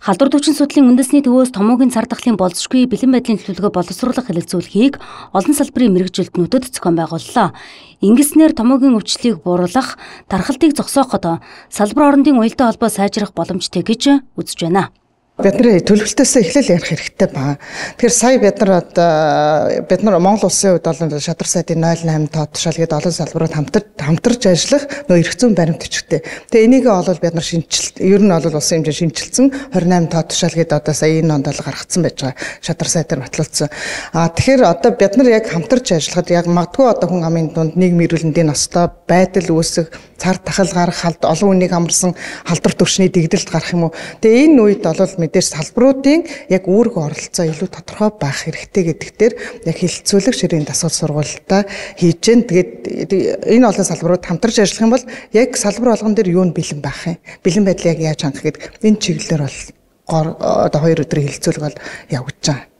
Халдвар төвчин судлалын үндэсний төвөөс томоогийн цар тахлын болзошгүй бэлэн байдлын төлөвлөгөө боловсруулах хэлэлцүүлэхийг олон салбарын мэргэжилтнүүдэд зохион байгууллаа. Ингэснээр томоогийн өвчлөлийг бууруулах, тархалтыг зогсооход салбар орондын уялдаа холбоо сайжрах боломжтой гэж үзэж байна. Бид нар төлөвлөлтөөсөө эхлэл ярих хэрэгтэй байна. Тэгэхээр сая бид нар Монгол улсын хувьд бол шадар сайдын 08 тоо тушаалгээд олон салбарууд хамтарч ажиллах нөө эрх зүйн баримт өчгтэй. Тэгээ энийгээ бол бид нар ер нь бол улсын хэмжээнд шинжилсэн 28 тоо тушаалгээд одоо сая энэ онд бол гаргацсан байж байгаа. Шадар сайдаар батлуулсан. Тэгэхээр одоо бид нар яг хамтарч ажиллахад яг магадгүй одоо хүн амын дунд нийгмийн эрүүлэндийн настай байдал үүсэх, цар тахал гарах, олон хүнийг амарсан халдвар төвчний дэгдэлт гарах юм уу. Тэгээ энэ үед бол мэдээж салбаруудын яг үүрэг оролцоо илүү тодорхой байх хэрэгтэй гэдэгтэр яг хилцүүлэг ширийн дасгал сургуультай хийж гэн. Тэгээд энэ олон салбарууд хамтарч ажиллах юм бол яг салбар болгон дээр юу нь бэлэн байх юм. Бэлэн байдлыг яаж хангах гэдэг энэ чиглэлээр бол одоо 2 өдрийн хилцүүлэг бол явагдаж байгаа.